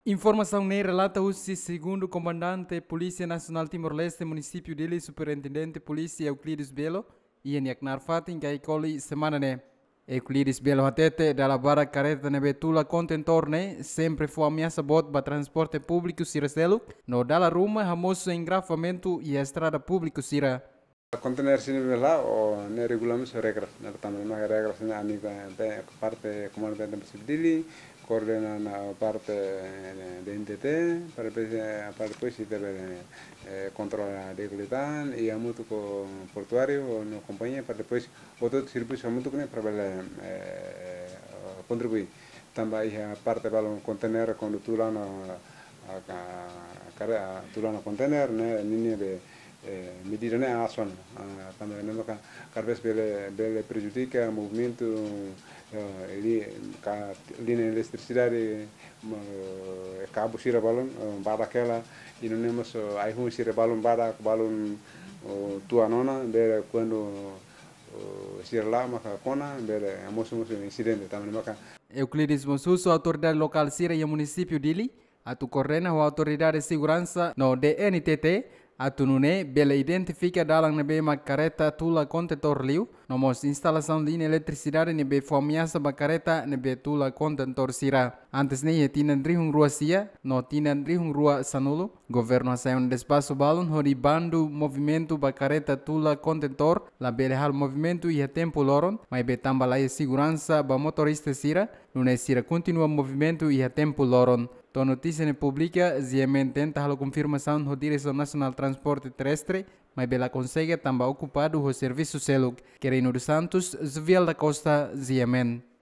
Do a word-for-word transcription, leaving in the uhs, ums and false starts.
Informasaun ne'e relata husi segundu komandante Polísia Nasionál Timor-Leste, munisípiu Dili, Superintendente Polísia Euclides Belo, iha nia knaar fatin Kaikoli semana ne'e. Euclides Belo hatete, dala barak kareta ne'ebé tula kontentór ne'e sempre fó ameasa boot ba transporte públiku sira seluk, no dala ruma hamosu engarrafamentu iha estrada públiku sira. Kontener sira ne'ebé la'o, ne'e regula mós regras, ne'e tanba ne'e maka regras ne'e ami, eh, parte Komandu Tenente Munisípiu Dili, koordena ho parte, eh, D N T T, para depois, eh, para depois ita bele, eh, kontrola di'ak liután, i hamutuk ho portuáriu, no kompañia, para depois outro servisu hamutuk ne'e para bele, eh, kontribui. Tanba iha parte balun kontener kuandu tula ona, ah, ka-, kare-, ah, tula ona kontener ne'e, ninia be, eh, medida ne'e asaun, ah, tanba ne'e maka kada vez bele, bele prejudika movimentu, eh, li-, ka-, liña eletrisidade, ma, eh, kabu sira balun, eh, badak hela, i nune'e mós, eh, ai-hun sira balun badak, balun, oh, tua ona, bele kuandu, oh, sira la'o maka kona, bele mosu-mosu insidente, tanba ne'e maka. Euclides mós husu autoridade lokál sira iha munisípiu Dili atu koordena ho autoridade seguransa no D N T T, atu nune'e bele identifika dalan ne'ebé mak kareta tula kontentór liu, no mós instalasaun liña eletrisidade ne'ebé fó ameasa ba kareta ne'ebé tula kontentór sira. Antes ne'e iha tinan rihun rua sia no tinan rihun rua sanulu, governu hasai ona despaxu balun hodi bandu movimentu ba kareta tula kontentór labele halo movimentu iha tempu loron, maibé tanba laiha seguransa ba motorista sira, nune'e sira kontinua movimentu iha tempu loron. To'o notísia ne'e publika, G M N tenta halo konfirmasaun ho Diresaun Nasionál Transporte Terrestre, maibé la konsege tanba okupadu ho servisu seluk. Querino dos Santos, Jovial da Costa, G M N.